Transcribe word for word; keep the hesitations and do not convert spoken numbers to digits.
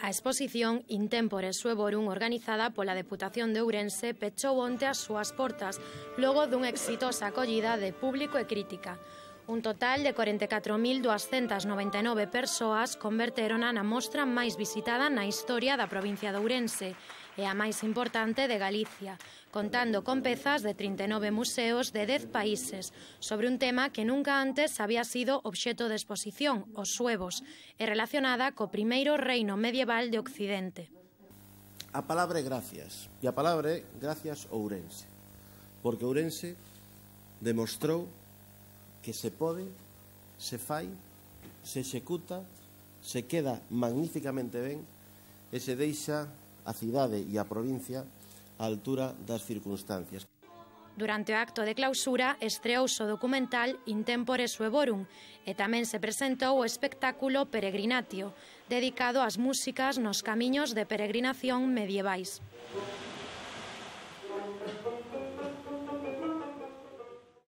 A exposición Intempore Suevorum, organizada pola Deputación de Ourense, pechou onte as súas portas, logo dunha exitosa acollida de público e crítica. Un total de corenta e catro mil duascentas noventa e nove persoas converterona na mostra máis visitada na historia da provincia de Ourense e a máis importante de Galicia, contando con pezas de trinta e nove museos de dez países, sobre un tema que nunca antes había sido obxeto de exposición, os suevos, e relacionada co primeiro reino medieval de Occidente. A palabra é gracias, e a palabra é gracias Ourense, porque Ourense demostrou que se pode, se fai, se executa, se queda magníficamente ben e se deixa a cidade e a provincia á altura das circunstancias. Durante o acto de clausura estreouse o documental Intempore Suevorum e tamén se presentou o espectáculo Peregrinatio, dedicado ás músicas nos camiños de peregrinación medievais.